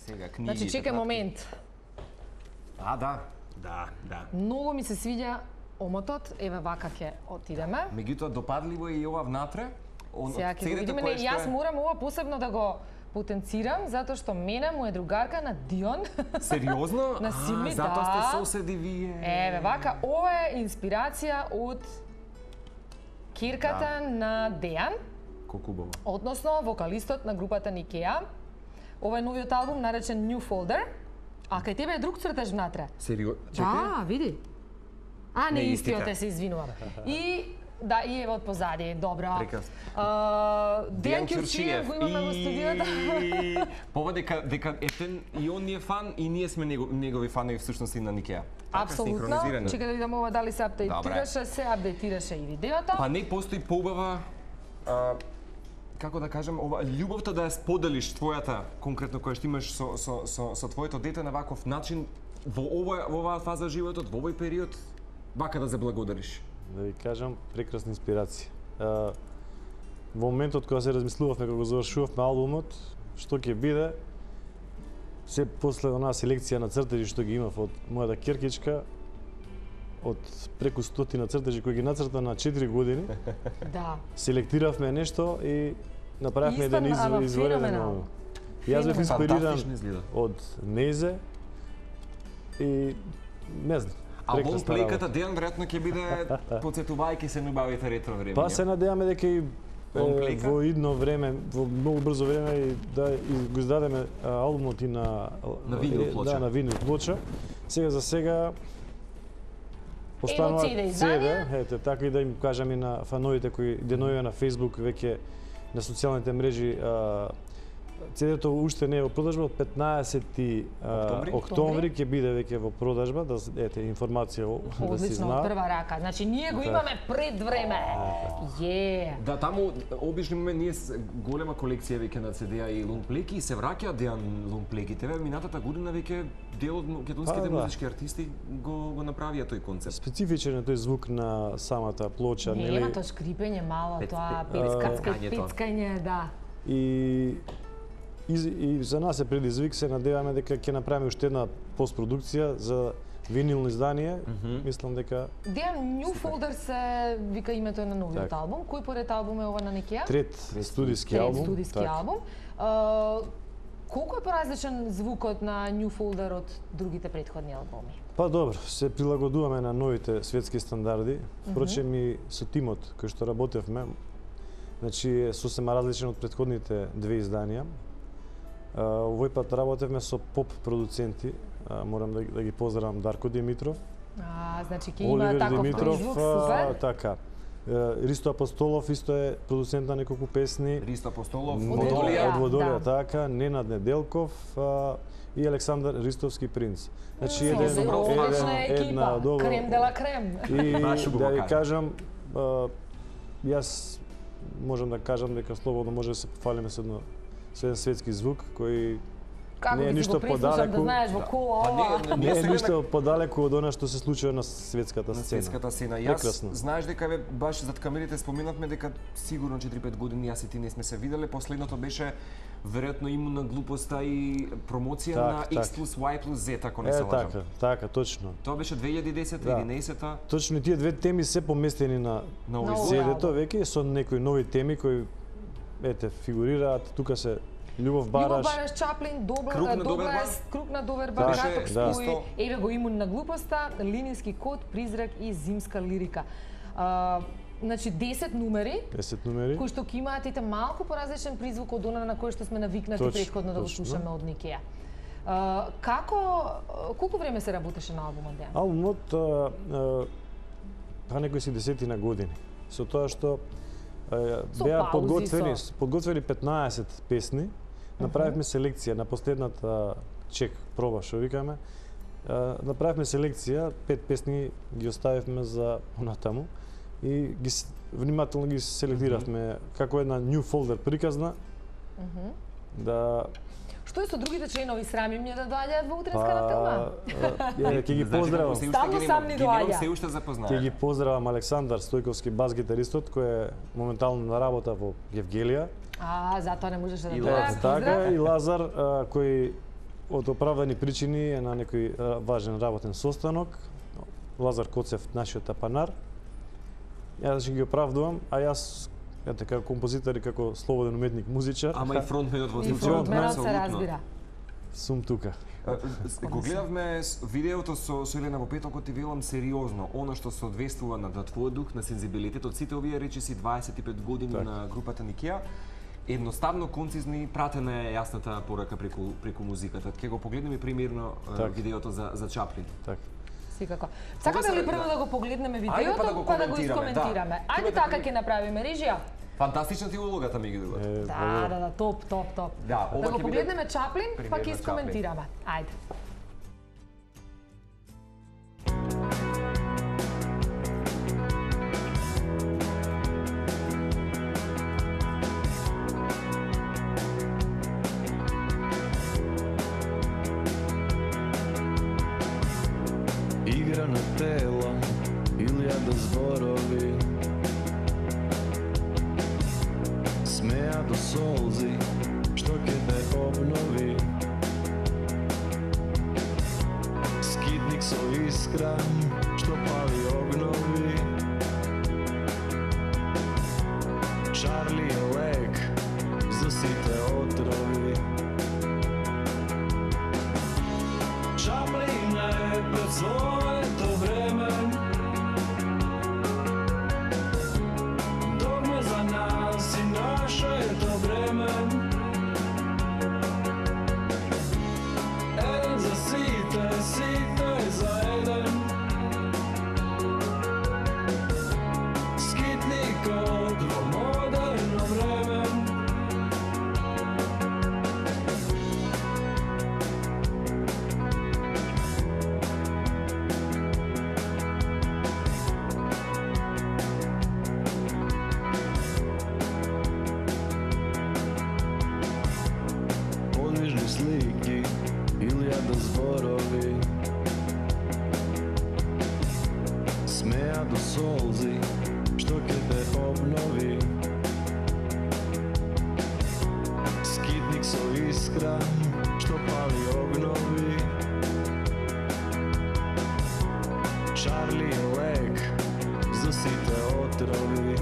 Сега книги. Значи чекај момент. Да. Многу ми се свиѓа омотот, еве вака ќе отидеме. Меѓутоа допадливо е и ова внатре. Сега ќе го видиме, не, јас морам ова посебно да го потенцирам, затоа што мене му е другарка на Дион. Сериозно? На Сими, да. Затоа сте соседи вие. Еве, вака, ова е инспирација од кирката на Дејан. Колку убаво. Односно, вокалистот на групата Никеа. Ова е новиот албум наречен New Folder. А кај тебе е друг цртеж внатре. Сериозно? Да, види. А, не истиот истите. се извинувам. И да, и еве од позади, добро. Прекрасно. Дејан Ќурчиев го имаме во студиото. Дека ефен и он ни е фан и ние сме негови фанови всушност и на Никеа. Апсолутно. Чекај да видам ова дали се апдейтираше, се апдейтираше и видеото. Па не постои поубава како да кажем, ова љубовта да ја споделиш твојата конкретно која што имаш со твоето дете на ваков начин во оваа фаза животот, во овој период, вака да се благодариш. Да ви кажам, прекрасна инспирација. Во моментот кога се размислувавме кога го завршувавме албумот, што ќе биде, се после онаа селекција на цртежи што ги имав од мојата ќеркичка, од преку 100 цртежи кои ги нацрта на 4 години, Да. селектиравме нешто и направивме еден Ама извореден феноменално. албум. Јас бев инспириран Фантастично изгледа. од Незе и не знам. А прекрасна лонплейката работа. Дејан веројатно ќе биде потсетувајќи се на убавите ретро времења. Па се надеваме дека и Лонплейка? во идно време, во многу брзо време и да го издадеме албумот и на винил плоча. Да, на винил плоча. За сега останува CD издание. ете, така и да им кажам и на фановите кои денојува на Facebook, веќе на социјалните мрежи, CD-то уште не е во продажба, од 15 октомври ќе биде веќе во продажба, да ете информација да се Одлично, знае. од прва рака. Значи ние го имаме пред време. Да, таму обично имаме ние голема колекција веќе на CD-а и лонплейки и се враќаат Дејан лонплейките. Минатата година веќе дел од македонските музички артисти го направија тој концепт. Специфичен е тој звук на самата плоча, Не, има тоа шкрипење мало, тоа пецкање, да. И за нас е предизвик, се надеваме дека ќе направиме уште една постпродукција за винилно издание. Мислам дека Дејан, New Folder се вика името на новиот албум. Кој поред албум е ова на Никеа? трет студиски албум. Трет студиски албум. Колку е поразличен звукот на New Folder од другите претходни албуми? Па добро, се прилагодуваме на новите светски стандарди. Впрочем и со тимот кој што работевме, значи е сосема различен од претходните две изданија. Овој пат работевме со поп продуценти. Морам да ги поздравам Дарко Димитров, Значи ќе има Оливер таков Димитров, призвук, супер. така. Ристо Апостолов исто е продуцент на неколку песни. Ристо Апостолов, Од Водолија. Од Водолија, да. така, Ненад Неделков и Александар Ристовски принц. Значи Одлична една екипа, добра крем де ла крем. и Баш убаво да ви кажа. кажам, јас можам да кажам дека слободно може да се пофалиме со еден светски звук кој Како не е ќе си ништо го прислушам подалеку. да знаеш во кола ова. Не е ништо подалеку од она што се случува на светската на сцена. светската сцена. Јас Прекрасно. знаеш дека баш зад камерите споменавме дека сигурно 4-5 години јас и ти не сме се виделе. Последното беше веројатно имуна глупоста и промоција на X plus Y plus Z, ако не се лажам. Така, точно. Тоа беше 2010-2011. Точно и тие две теми се поместени на овој CD-то веќе со некои нови теми кои ете фигурираат, тука се Љубов Бараш, Чаплин, Круг на Доверба, Да, Краток да. стои, еве го имун на глупоста, Линински код, Призрак и Зимска лирика. Значи 10 numeri 10 numeri кои што ќе имаат ите малку поразличен призвук од она на кој што сме навикнати претходно да го слушаме од Никеа. Колку време се работеше на албумот, Дејан? Албумот па некои си десетина години. Со тоа што беа подготвени 15 песни, направивме селекција на последната чек проба што викаме. Направивме селекција, 5 песни ги оставивме за онатаму и ги внимателно ги селектиравме како една New Folder приказна. Да Што е со другите членови, срамим не да доаѓаат во утренска на филма? Ќе ги поздравам. Стално сам ни доаѓа. Се уште запознаа. Ќе ги поздравам Александар Стојковски, бас гитаристот, кој е моментално на работа во Евгелија. Затоа не можеше да И доаѓа. така и Лазар кој од оправдани причини е на некој важен работен состанок. Лазар Коцев, нашиот апанар. Јас ќе ги оправдувам, а јас како композитор и како слободен уметник, музичар. Ама и фронтменот во случајот. Фронтменот се разбира. Сум тука. Го гледавме видеото со Елена во петокот и велам сериозно, она што се одвестува на твојот дух, на сензибилитетот, сите овие речиси 25 години на групата Никеа, едноставно, концизни, пратена е јасната порака преку музиката. Ќе го погледнеме примерно видеото за Чаплин. Така. Секако. Сакате ли прво да го погледнеме видеото, па да го искоментираме? Ајде така ќе направиме, режија. Фантастична ти улогата ми ги дува. Да, топ. Да го погледнеме Чаплин, па ќе искоментираме. Ајде. Игра на тела, илјада зборови, смеа до солзи, што ќе те обнови. Скитник со искра, што пали огнови. Чарли е лек за сите отрови. Чаплин е пред своето време, догма за нас и нашето време. Еден за сите, сите за еден. Скитникот во модерно време. Подвижни слики, илјада зборови, смеа до солзи, што ќе те обнови. Скитник со искра, што пали огнови. Чарли е лек за сите отрови.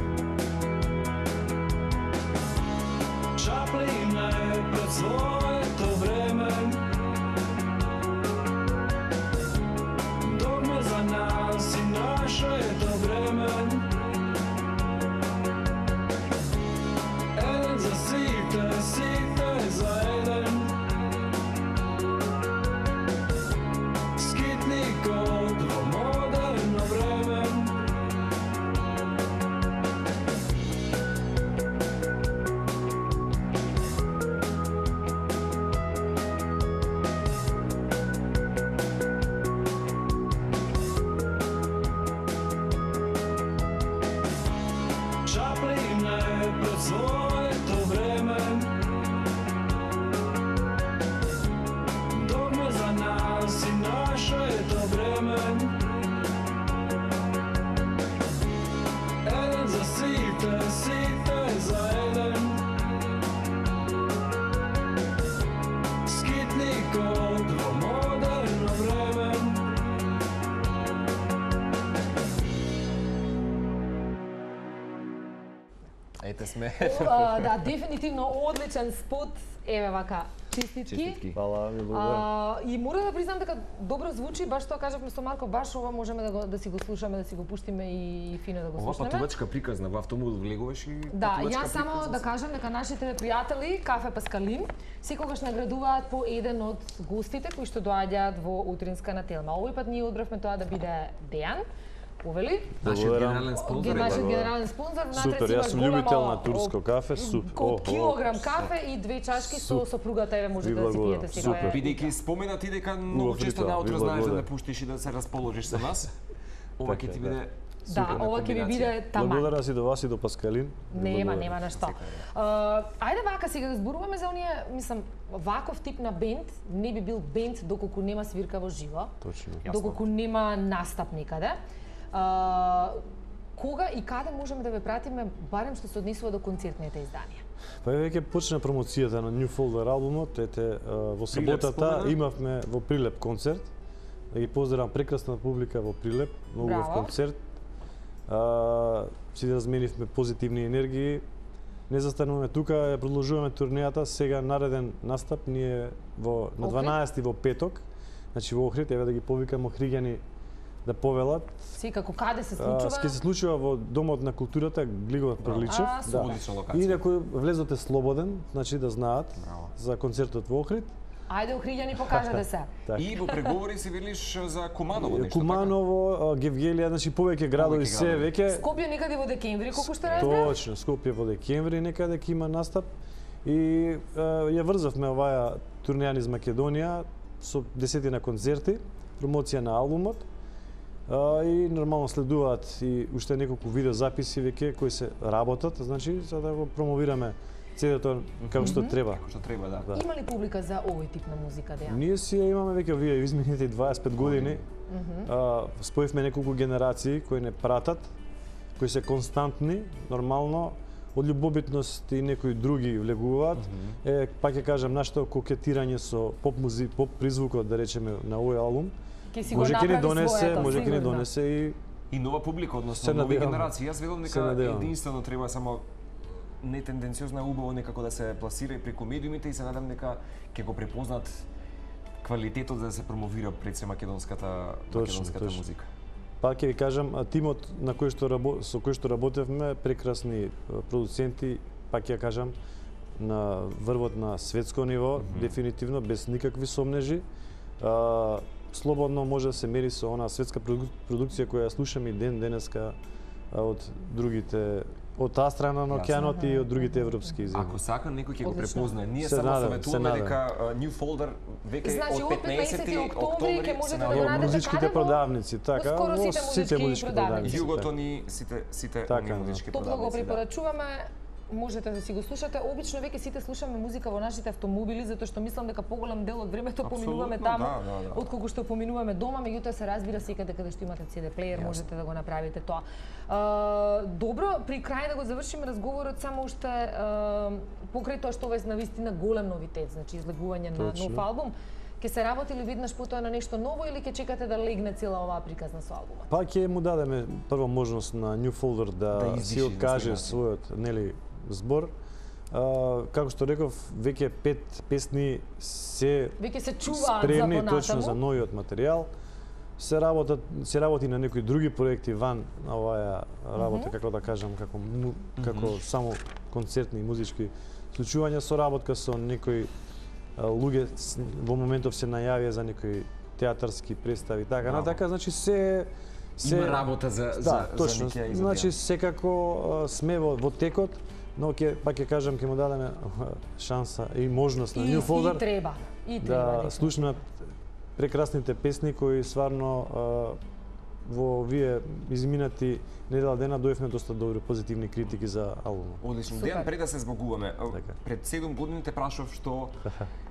Чаплин е пред своето време, догма за нас и нашето време. Еден за сите, сите за еден. Скитникот во модерно време. Чаплин е пред своето време, догма за нас и нашето време. Еден за сите, сите за еден. Скитникот во модерно време. Ете сме. Да, дефинитивно одличен спот. Еве вака, честитки. Фала, ви благодарам. И мора да признам дека добро звучи, баш тоа кажавме со Марко, баш ова можеме да си го слушаме, да си го пуштиме и фино да го Ова слушнеме. патувачка приказна, во автомобил влегуваш и Да, патувачка јас само приказна. да кажам дека нашите пријатели Кафе Паскалин секогаш наградуваат по еден од гостите кои што доаѓаат во утринска на Телма. Овој пат ние одбравме тоа да биде Дејан. Увели? Нашиот генерален спонзор. Нашиот генерален спонзор. Супер, јас сум љубител на турско кафе, супер. Килограм кафе и 2 чашки со сопругата, еве можете да си пиете сега. Супер. Бидејќи спомена ти дека многу често наутро знаеш да не пуштиш и да се расположиш со нас. Ова ќе ти биде Да, ова ќе ви биде таман. Благодарам си до вас и до Паскалин. Нема на што. Ајде вака сега да зборуваме за оние, мислам, ваков тип на бенд не би бил бенд доколку нема свирка во живо. Точно. Доколку нема настап никаде. Кога и каде можеме да ве пратиме, барем што се однесува до концертните изданија? Па веќе почна промоцијата на New Folder албумот, во саботата имавме во Прилеп концерт. Да ги поздравам прекрасна публика во Прилеп, многу убав концерт. Си разменивме позитивни енергии. Не застануваме тука, ја продолжуваме турнејата. Сега нареден настап ние на 12 во петок, значи во Охрид, еве да ги повикам охриѓани да повелат. Како каде се случува? Ќе се случува во Домот на културата Глигов Приличев. Одлична локација. И некој влезот е слободен, значи да знаат за концертот во Охрид. Ајде охриѓани, покажете се. И во преговори си велиш за Куманово нешто така? Куманово, Гевгелија, значи повеќе градови се веќе. Скопје некаде во декември, колку што разбрав? Точно, Скопје во декември некаде ќе има настап. И ја врзавме оваа турнеја низ Македонија со 10 концерти, промоција на албумот. И нормално следуваат и уште неколку видеозаписи веќе кои се работат, значи за да го промовираме CD-то како што треба. Како што треба, да. Има ли публика за овој тип на музика, Дејан? Ние си ја имаме веќе овие изминалите 25 години. Споивме неколку генерации кои не пратат, кои се константни, нормално, од љубобитност и некои други влегуваат. Пак ќе кажам, нашето кокетирање со поп призвукот, да речеме, на овој албум, може ќе ни донесе и нова публика, односно нови генерации. Јас велам дека единствено треба само нетенденциозно е убаво некако да се пласира и преку медиумите и се надам дека ќе го препознат квалитетот за да се промовира пред се македонската музика. Пак ќе ви кажам, тимот на со кој што работевме, прекрасни продуценти, пак ќе кажам, на врвот на светско ниво, дефинитивно, без никакви сомнежи. Слободно може да се мери со она светска продукција која слушаме и денеска од другите, од таа страна на океанот и од другите европски земји. Ако сака некој ќе го препознае. Ние само советуваме дека New Folder веќе од 15 октомври ќе можете да го најдете музичките продавници, така, во сите музички продавници. Југото ни сите музички продавници. Топло го препорачуваме. Можете да си го слушате. Обично веќе сите слушаме музика во нашите автомобили, затоа што мислам дека поголем дел од времето поминуваме таму, отколку што поминуваме дома, меѓутоа се разбира секаде каде што имате CD плеер, можете да го направите тоа. Добро, при крај да го завршиме разговорот, само уште покрај тоа што ова е навистина голем новитет, значи излегување на нов албум. Ќе се работи ли веднаш потоа на нешто ново или ќе чекате да легне цела оваа приказна со албумот? Па ќе му дадеме прва можност на New Folder да си откаже својот, нели, збор. Како што реков, веќе 5 песни се чуваат спремни за точно за новиот материјал. Се работи на некои други проекти ван на оваа работа, како да кажам, како само концертни и музички случувања, со работка со некои луѓе во моментов се најавија за некои театарски представи, така натака, значи се има работа за Никија и за значи секако сме во текот, но пак ќе кажам, ќе му дадеме шанса и можност на New Folder да слушнат прекрасните песни кои стварно во вие изминати недела дена дојавме доста добри позитивни критики за албумот. Одлично. Дејан, пред да се збогуваме, пред 7 години те прашав што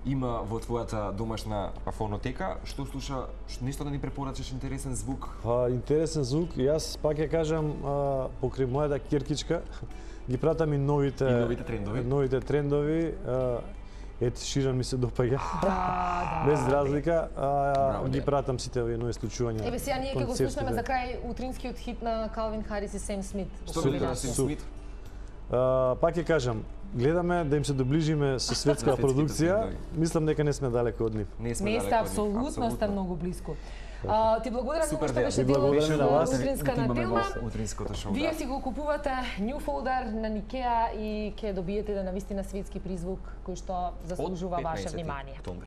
има во твојата домашна фонотека, што слуша, нешто да ни препорачаш интересен звук? Интересен звук, јас пак ќе кажам покрај мојата киркичка ги пратам и новите трендови. Ед Ширан ми се допаѓа. Без разлика, ги пратам сите овие нови случувања. Еве сега ние ќе го слушнеме за крај утринскиот хит на Калвин Харис и Сем Смит. Пак ќе кажам, гледаме да им се доближиме со светска продукција. Мислам дека не сме далеко од нив. Не сте, апсолутно сте многу близко. Ти благодарам многу што беше дел од утринска на тема. Вие си го купувате New Folder на Никеа и ќе добиете да навистина светски призвук кој што заслужува ваше внимание.